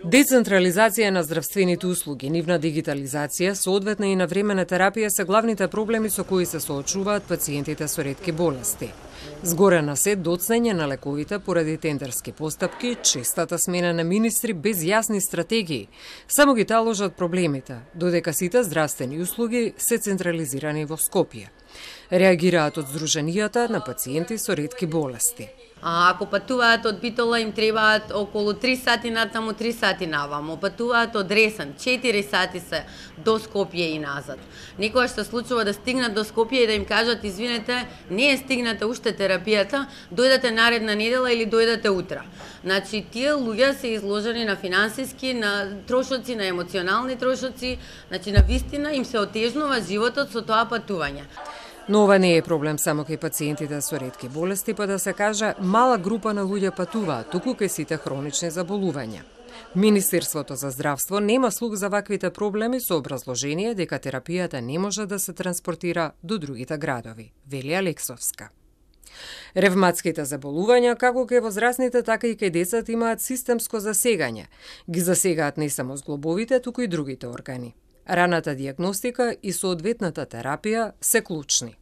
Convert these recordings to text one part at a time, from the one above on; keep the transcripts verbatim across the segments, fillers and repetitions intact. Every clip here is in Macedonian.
Децентрализација на здравствените услуги, нивна дигитализација, соодветна и навремена терапија се главните проблеми со кои се соочуваат пациентите со ретки болести. Згорена се доцнење на лековите поради тендерски постапки, честата смена на министри без јасни стратегии, само ги таложат проблемите, додека сите здравствени услуги се централизирани во Скопје. Реагираат од здруженијата на пациенти со ретки болести. А ако патуваат од Битола, им требаат околу три сати натаму, три сати наваму. Патуваат од Ресен, четири сати се до Скопје и назад. Некогаш се случува да стигнат до Скопје и да им кажат: извинете, не е стигната уште терапијата, дојдете наредна недела или дојдете утре. Значи, тие луѓе се изложени на финансиски, на трошоци, на емоционални трошоци, значи на вистина им се отежнува животот со тоа патување. Но ова не е проблем само кај пациентите со ретки болести, па да се каже, мала група на луѓе патуваат, туку кај сите хронични заболувања. Министерството за здравство нема слух за ваквите проблеми со образложение дека терапијата не може да се транспортира до другите градови, вели Алексовска. Ревматските заболувања, како кај возрастните, така и кај децата, имаат системско засегање. Ги засегаат не само зглобовите, туку и другите органи. Раната диагностика и соодветната терапија се клучни.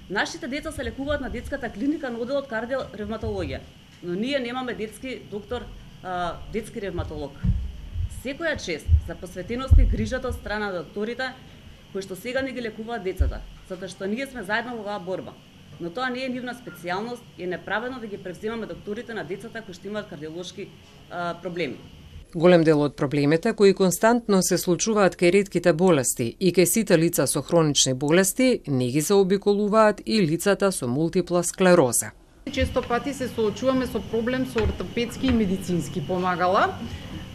Нашите деца се лекуваат на детската клиника на оделот кардиоревматологија, но ние немаме детски доктор, а, детски ревматолог. Секоја чест за посветеност и грижата од страна на докторите кои што сега не ги лекуваат децата, затоа што ние сме заедно во оваа борба. Но тоа не е нивна специјалност и е неправедно да ги превземаме докторите на децата кои што имаат кардиолошки а, проблеми. Голем дел од проблемите кои константно се случуваат кај ретките болести и кај сите лица со хронични болести не ги заобиколуваат и лицата со мултипла склероза. Често пати се соочуваме со проблем со ортопедски и медицински помагала,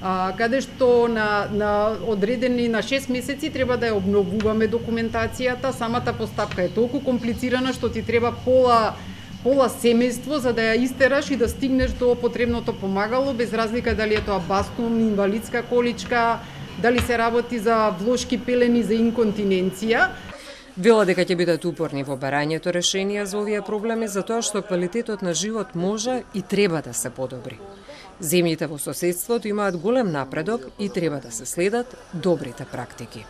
а, каде што на, на одредени на шест месеци треба да ја обновуваме документацијата. Самата постапка е толку комплицирана што ти треба пола пола семејство за да ја истераш и да стигнеш до потребното помагало, без разлика дали е тоа бастун, инвалидска количка, дали се работи за влошки пелени за инконтиненција. Вела дека ќе бидат упорни во барањето решенија за овие проблеми, затоа што квалитетот на живот може и треба да се подобри. Земјите во соседството имаат голем напредок и треба да се следат добрите практики.